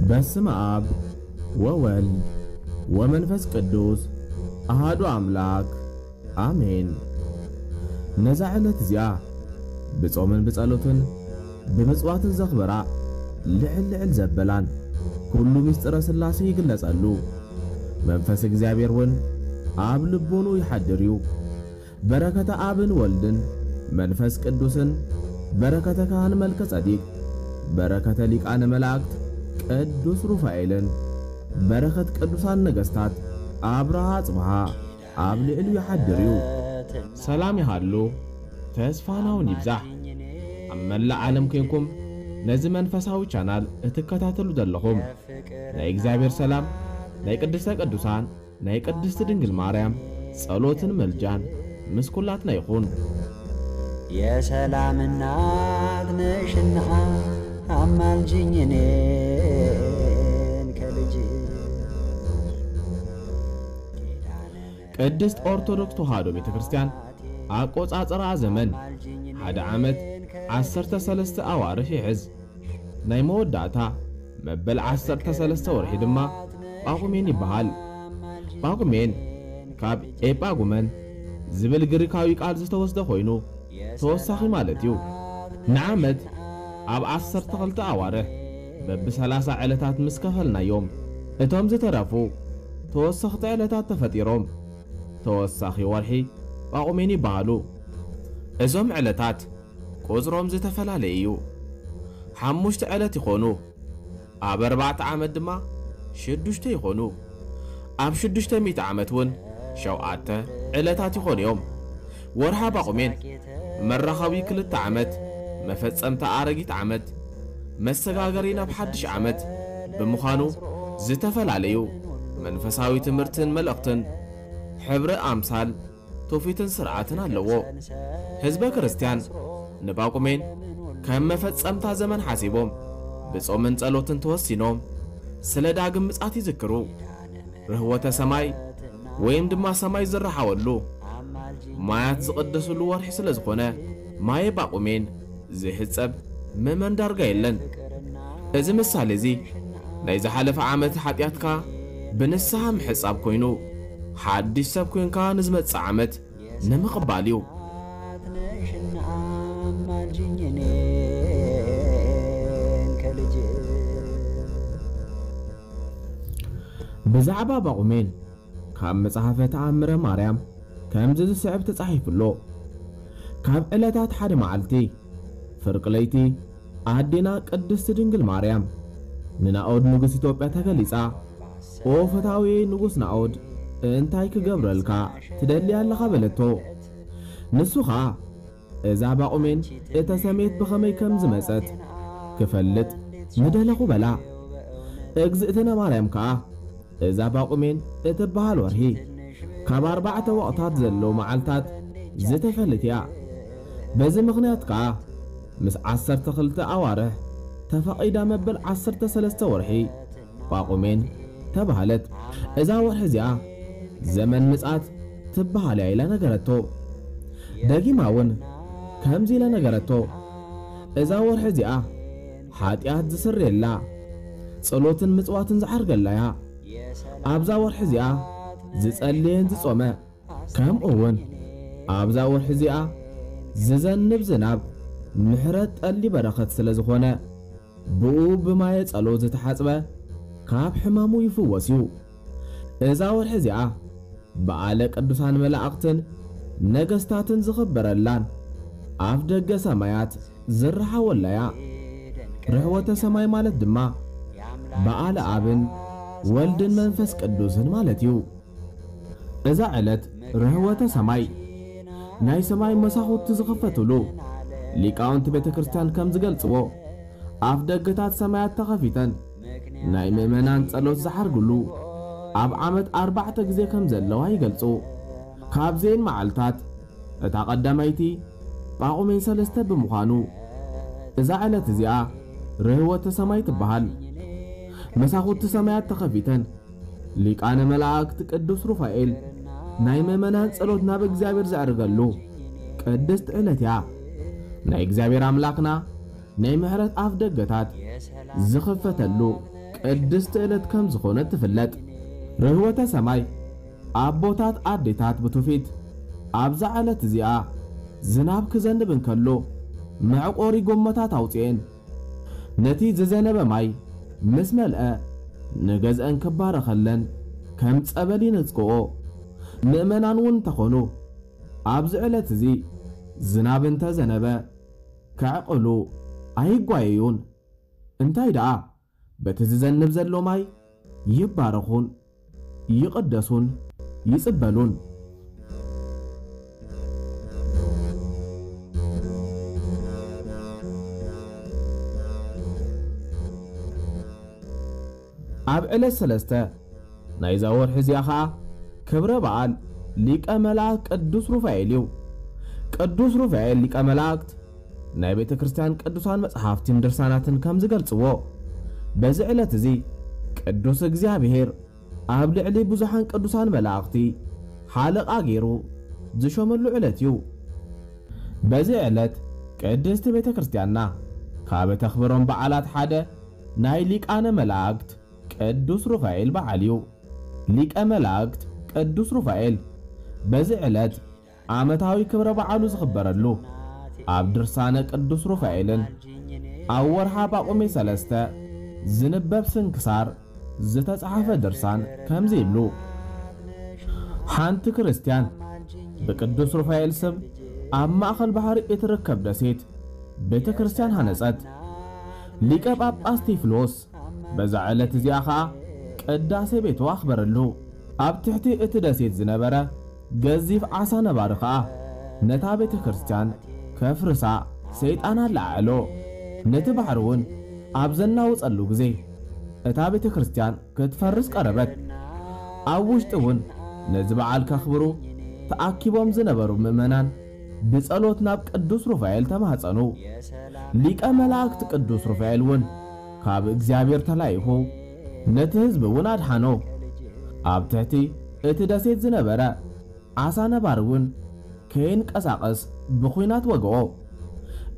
በስመ አብ ወወልድ ወመንፈስ ቅዱስ አሃዱ አምላክ አሜን። ነዛ ዕለት እዚኣ ብጾምን ብጸሎትን ብምጽዋትን ዘኽበራ ልዕል ልዕል ዘበላን ኩሉ ምስጢረ ሥላሴ ይግለጸሉ። መንፈስ እግዚኣብሔር እውን ኣብ ልቦኑ ይሓድር እዩ። በረከተ ኣብን ወልድን መንፈስ ቅዱስን በረከተ ካህን መልከ ጸዲቅ በረከተ ሊቃነ መላእክት ቅዱስ ሩፋኤልን በረከት ቅዱሳን ነገስታት ኣብርሃ አጽብሃ ኣብ ልዕሉ ይሓድር እዩ። ሰላም ይሃሉ፣ ተስፋናውን ይብዛሕ። ኣብ መላእ ዓለም ኮይንኩም ነዚ መንፈሳዊ ቻናል እትከታተሉ ዘለኹም ናይ እግዚኣብሔር ሰላም፣ ናይ ቅድስተ ቅዱሳን፣ ናይ ቅድስቲ ድንግል ማርያም ጸሎትን ምልጃን ምስ ኩላትና ይኹን። የሰላም እናት ነሽና አማልጅኝ እኔን ከልጅ ቅድስት ኦርቶዶክስ ተዋሕዶ ቤተ ክርስቲያን ኣቆጻጽራ ዘመን ሓደ ዓመት ዓሰርተ ሰለስተ ኣዋርሕ ይሕዝ። ናይ መወዳእታ መበል ዓሰርተ ሰለስተ ወርሒ ድማ ጳጉሜን ይበሃል። ጳጉሜን ካብ ኤጳጉመን ዝብል ግሪካዊ ቃል ዝተወስደ ኮይኑ ተወሳኺ ማለት እዩ። ንዓመት ኣብ ዓሰርተ ክልተ ኣዋርሕ በብሰላሳ ዕለታት ምስ ከፈልናዮም እቶም ዝተረፉ ተወሰኽቲ ዕለታት ተፈጢሮም ተወሳኺ ወርሒ ጳጉሜን ይበሃሉ። እዞም ዕለታት ቁጽሮም ዝተፈላለየ እዩ። ሓሙሽተ ዕለት ይኾኑ። ኣብ ኣርባዕተ ዓመት ድማ ሽዱሽተ ይኾኑ። ኣብ ሽዱሽተ ሚእቲ ዓመት እውን ሸውዓተ ዕለታት ይኾኑ እዮም። ወርሓ ጳጉሜን መራኸቢ ክልተ ዓመት፣ መፈጸምታ ኣረጊት ዓመት፣ መሰጋገሪ ናብ ሓድሽ ዓመት ብምዃኑ ዝተፈላለዩ መንፈሳዊ ትምህርትን መልእኽትን ሕብረ ኣምሳል ትውፊትን ስርዓትን ኣለዎ። ህዝበ ክርስቲያን ንጳጉሜን ከም መፈጸምታ ዘመን ሓሲቦም ብጾምን ጸሎትን ተወሲኖም ስለ ዳግም ምጽኣት ይዝክሩ። ርህወተ ሰማይ ወይም ድማ ሰማይ ዝረሓወሉ ማያት ዝቕደስሉ ወርሒ ስለ ዝኾነ ማየ ጳጉሜን ዝሕጸብ ምእመን ዳርጋ የለን። እዚ ምሳሌ እዚ ናይ ዝሓለፈ ዓመት ሓጢኣትካ ብንስሓ ምሕጻብ ኮይኑ ሓድሽ ሰብ ኮንካ ንዝመጽእ ዓመት ንምቕባል እዩ። ብዛዕባ ጳጉሜን ካብ መጽሓፈ ተኣምረ ማርያም ከምዚ ዝስዕብ ተጻሒፉ ኣሎ። ካብ ዕለታት ሓደ መዓልቲ ፍርቂ ለይቲ ኣዴና ቅድስቲ ድንግል ማርያም ንናኦድ ንጉስ ኢትዮጵያ ተገሊጻ፣ "ኦ ፈታዊ ንጉስ ናኦድ፣ እንታይ ክገብረልካ ትደሊ ኣለኻ?" በለቶ። ንሱ ኸኣ፣ "እዛ ጳጉሜን እተሰምየት ብኸመይ ከም ዝመጸት ክፈልጥ ምደለኹ" በላ። እግዝእትነ ማርያም ከኣ፣ "እዛ ጳጉሜን እትበሃል ወርሒ ካብ ኣርባዕተ ወቕታት ዘለዉ መዓልታት ዝተፈልየት እያ። በዚ ምኽንያት ከኣ ምስ ዓሰርተ ክልተ ኣዋርሕ ተፈቒዳ መበል ዓሰርተ ሰለስተ ወርሒ ጳጉሜን ተባህለት። እዛ ወርሒ እዚኣ ዘመን ምጽኣት ትበሃል እያ" ኢላ ነገረቶ። ደጊማ እውን ከምዚ ኢላ ነገረቶ፣ "እዛ ወርሒ እዚኣ ሓጢኣት ዝስረየላ፣ ጸሎትን ምጽዋትን ዝዓርገላ እያ። ኣብዛ ወርሒ እዚኣ ዝጸለየን ዝጾመ፣ ከምኡ እውን ኣብዛ ወርሒ እዚኣ ዝዘንብ ዝናብ ምሕረት ጠሊ በረኸት ስለ ዝኾነ፣ ብኡ ብማየ ጸሎት ዝተሓጽበ ካብ ሕማሙ ይፍወስ እዩ። እዛ ወርሒ እዚኣ በዓለ ቅዱሳን መላእኽትን ነገስታትን ዝኽበረላን ኣፍ ደገ ሰማያት ዝረሓወላ እያ። ርሕወተ ሰማይ ማለት ድማ በዓለ ኣብን ወልድን መንፈስ ቅዱስን ማለት እዩ። እዛ ዕለት ርህወተ ሰማይ፣ ናይ ሰማይ መሳኹቲ ዝኸፈትሉ፣ ሊቃውንቲ ቤተ ክርስቲያን ከም ዝገልጽዎ፣ ኣፍ ደገታት ሰማያት ተኸፊተን ናይ ምእመናን ጸሎት ዝዓርግሉ ኣብ ዓመት ኣርባዕተ ግዜ ከም ዘለዋ ይገልጹ። ካብዘን መዓልታት እታ ቀዳመይቲ ጳጉሜን ሰለስተ ብምዃኑ፣ እዛ ዕለት እዚኣ ርህወተ ሰማይ ትበሃል። መሳኹቲ ሰማያት ተኸፊተን፣ ሊቃነ መላእክት ቅዱስ ሩፋኤል ናይ ምእመናን ጸሎት ናብ እግዚኣብሔር ዘዕርገሉ ቅድስቲ ዕለት እያ። ናይ እግዚኣብሔር ኣምላኽና ናይ ምሕረት ኣፍ ደገታት ዝኽፈተሉ ቅድስቲ ዕለት ከም ዝኾነት ትፍለጥ። ርህወተ ሰማይ ኣቦታት ኣዴታት ብትውፊት ኣብዛ ዕለት እዚኣ ዝናብ ክዘንብ እንከሎ መዕቆሪ ጎመታት ኣውፅኤን ነቲ ዝዘነበ ማይ ምስ መልአ ንገዝአን ክባረኸለን ከም ጸበል ይነጽግኦ። ምእመናን እውን እንተኾኑ ኣብዚ ዕለት እዚ ዝናብ እንተዘነበ ከዕቕሉ ኣይጓየዩን። እንታይ ደኣ በቲ ዝዘንብ ዘሎ ማይ ይባረኹን ይቕደሱን ይጽበሉን። ኣብ ዕለት ሰለስተ ናይዛ ወርሒ እዚኣ ኸኣ ክብረ በዓል ሊቀ መላእክት ቅዱስ ሩፋኤል እዩ። ቅዱስ ሩፋኤል ሊቀ መላእክት ናይ ቤተ ክርስቲያን ቅዱሳን መጽሓፍትን ድርሳናትን ከም ዝገልጽዎ፣ በዚ ዕለት እዚ ቅዱስ እግዚኣብሔር ኣብ ልዕሊ ብዙሓን ቅዱሳን መላእኽቲ ሓለቓ ገይሩ ዝሾመሉ ዕለት እዩ። በዚ ዕለት ቅድስቲ ቤተ ክርስቲያንና ካብ እተኽብሮም በዓላት ሓደ ናይ ሊቃነ መላእክት ቅዱስ ሩፋኤል በዓል እዩ። ሊቀ መላእክት ቅዱስ ሩፋኤል በዚ ዕለት ዓመታዊ ክብረ በዓሉ ዝኽበረሉ ኣብ ድርሳነ ቅዱስ ሩፋኤልን ኣብ ወርሓ ጳቁሜ ሰለስተ ዝንበብ ስንክሳር ዝተጻሕፈ ድርሳን ከምዚ ይብሉ። ሓንቲ ክርስቲያን ብቅዱስ ሩፋኤል ስም ኣብ ማእከል ባሕሪ እትርከብ ደሴት ቤተ ክርስቲያን ሃነጸት። ሊቀ ጳጳስ ቴፍሎስ በዛ ዕለት እዚኣ ኸኣ ቅዳሴ ቤቱ ኣኽበረሉ። ኣብ ትሕቲ እቲ ደሴት ዝነበረ ገዚፍ ዓሳ ነባሪ ኸኣ ነታ ቤተ ክርስቲያን ከፍርሳ ሰይጣን ኣለዓዕሎ። ነቲ ባሕሪ እውን ኣብ ዘናውጸሉ ግዜ እታ ቤተ ክርስቲያን ክትፈርስ ቀረበት። ኣብ ውሽጢ እውን ነዚ በዓል ከኽብሩ ተኣኪቦም ዝነበሩ ምእመናን ብጸሎት ናብ ቅዱስ ሩፋኤል ተማህጸኑ። ሊቀ መላእክት ቅዱስ ሩፋኤል እውን ካብ እግዚኣብሔር ተላኢኹ ነቲ ህዝቢ እውን ኣድሓኖ። ኣብ ትሕቲ እቲ ደሴት ዝነበረ ዓሳ ነባሪ እውን ከይንቀሳቐስ ብኹናት ወግኦ።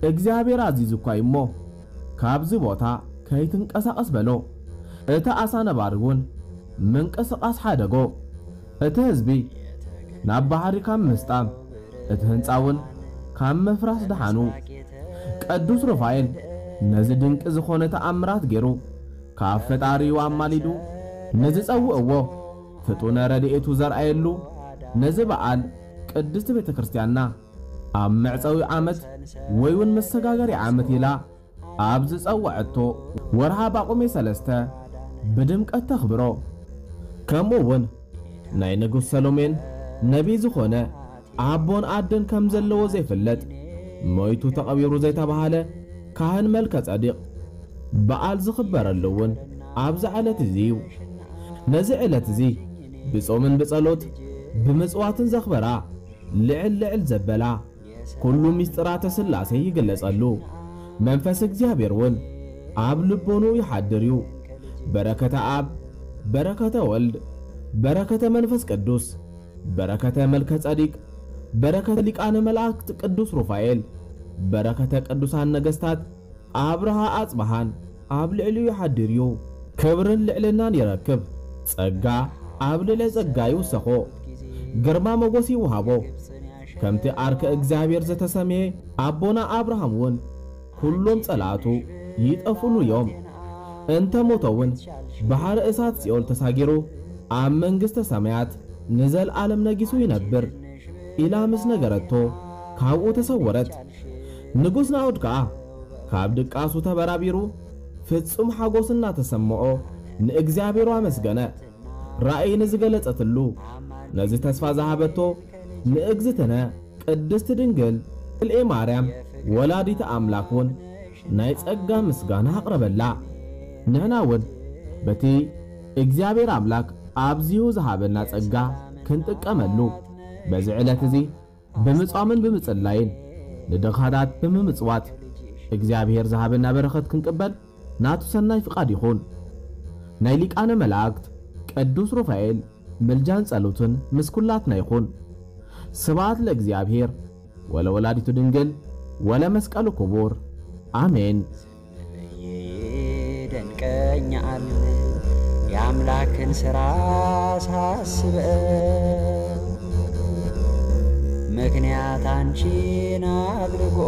እግዚኣብሔር ኣዚዙ እኳ እዩ እሞ ካብዚ ቦታ ከይትንቀሳቐስ በሎ። እቲ ዓሳ ነባሪ እውን ምንቅስቓስ ሓደጎ። እቲ ህዝቢ ናብ ባሕሪ ካብ ምስጣም እቲ ህንጻ እውን ካብ ምፍራስ ደሓኑ። ቅዱስ ሩፋኤል ነዚ ድንቂ ዝኾነ ተኣምራት ገይሩ ካብ ፈጣሪኡ ኣማሊዱ ንዝጸውዕዎ ፍጡነ ረድኤቱ ዘርኣየሉ ነዚ በዓል ቅድስቲ ቤተ ክርስቲያንና ኣብ መዕጸዊ ዓመት ወይ እውን መሰጋገሪ ዓመት ኢላ ኣብ ዝጸውዐቶ ወርሃ ጳቁሜ ሰለስተ ብድምቀት ተኽብሮ። ከምኡ እውን ናይ ንጉስ ሰሎሜን ነቢይ ዝኾነ ኣቦን ኣደን ከም ዘለዎ ዘይፍለጥ፣ ሞይቱ ተቐቢሩ ዘይተባህለ ካህን መልከ ጸዲቕ በዓል ዝኽበረሉ እውን ኣብዚ ዕለት እዚ እዩ። ነዚ ዕለት እዚ ብጾምን ብጸሎት ብምጽዋትን ዘኽበራ ልዕል ልዕል ዘበላ ኩሉ ምስጢራተ ሥላሴ ይግለጸሉ። መንፈስ እግዚኣብሔር እውን ኣብ ልቦኑ ይሓድር እዩ። በረከተ ኣብ፣ በረከተ ወልድ፣ በረከተ መንፈስ ቅዱስ፣ በረከተ መልከ ጸዲቅ፣ በረከተ ሊቃነ መላእክት ቅዱስ ሩፋኤል፣ በረከተ ቅዱሳን ነገስታት ኣብርሃ ኣጽብሃን ኣብ ልዕሊኡ ይሓድር እዩ። ክብርን ልዕልናን ይረክብ። ጸጋ ኣብ ልዕሊ ጸጋ ይውሰኾ። ግርማ ሞገስ ይውሃቦ። ከምቲ ኣርከ እግዚኣብሔር ዝተሰምየ ኣቦና ኣብርሃም እውን ኩሎም ጸላእቱ ይጠፍኡሉ እዮም። እንተ ሞተ እውን ባሕሪ እሳት ሲኦል ተሳጊሩ ኣብ መንግስተ ሰማያት ንዘልኣለም ነጊሱ ይነብር ኢላ ምስ ነገረቶ ካብኡ ተሰወረት። ንጉስ ናኦድ ከኣ ካብ ድቃሱ ተበራቢሩ ፍጹም ሓጎስ እናተሰምዖ ንእግዚኣብሔር ኣመስገነ። ራእይ ንዝገለጸትሉ ነዚ ተስፋ ዝሃበቶ ንእግዝእትነ ቅድስቲ ድንግል ክልኤ ማርያም ወላዲተ ኣምላክ እውን ናይ ጸጋ ምስጋና ኣቕረበላ። ንሕና እውን በቲ እግዚኣብሔር ኣምላክ ኣብዚሁ ዝሃበና ጸጋ ክንጥቀመሉ በዚ ዕለት እዚ ብምጻምን ብምጽላይን ንድኻታት ብምምጽዋት እግዚኣብሔር ዝሃበና በረኸት ክንቅበል ናቱ ሰናይ ፍቓድ ይኹን። ናይ ሊቃነ መላእክት ቅዱስ ሩፋኤል ምልጃን ጸሎትን ምስ ኩላትና ይኹን። ስብሐት ለእግዚኣብሔር ወለወላዲቱ ድንግል ወለመስቀሉ ክቡር። አሜን። ይደንቀኛል የአምላክን ስራ ሳስበው፣ ምክንያት አንቺን አድርጎ